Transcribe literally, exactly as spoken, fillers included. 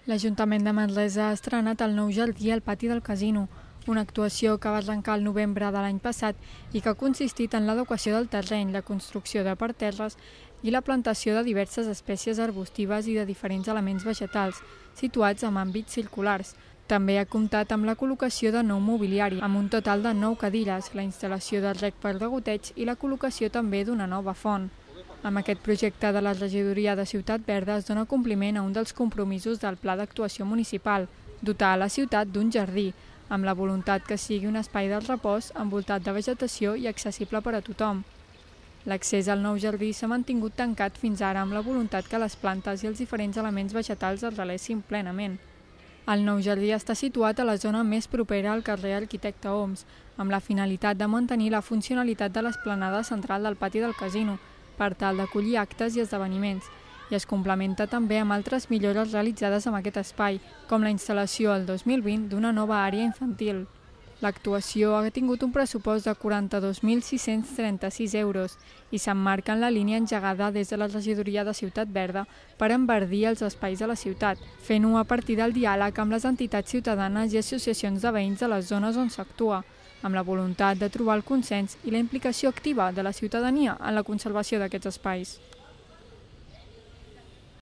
L'Ajuntament de Manresa ha estrenat el nou jardí al pati del casino, una actuació que va arrencar el novembre de l'any passat i que ha consistit en l'adequació del terreny, la construcció de parterres i la plantació de diverses espècies arbustives i de diferents elements vegetals, situats en àmbits circulars. També ha comptat amb la col·locació de nou mobiliari, amb un total de nou cadires, la instal·lació de rec per degoteig i la col·locació també d'una nova font. Amb aquest projecte de la regidoria de Ciutat Verda es dona compliment a un dels compromisos del Pla d'Actuació Municipal, dotar a la ciutat d'un jardí, amb la voluntat que sigui un espai de repòs envoltat de vegetació i accessible per a tothom. L'accés al nou jardí s'ha mantingut tancat fins ara amb la voluntat que les plantes i els diferents elements vegetals es relessin plenament. El nou jardí està situat a la zona més propera al carrer Arquitecte Homs, amb la finalitat de mantenir la funcionalitat de l'esplanada central del pati del casino, per tal d'acollir actes i esdeveniments, i es complementa també amb altres millores realitzades en aquest espai, com la instal·lació el dos mil vint d'una nova àrea infantil. L'actuació ha tingut un pressupost de quaranta-dos mil sis-cents trenta-sis euros i s'emmarca en la línia engegada des de la regidoria de Ciutat Verda per enverdir els espais de la ciutat, fent-ho a partir del diàleg amb les entitats ciutadanes i associacions de veïns de les zones on s'actua, amb la voluntat de trobar el consens i la implicació activa de la ciutadania en la conservació d'aquests espais.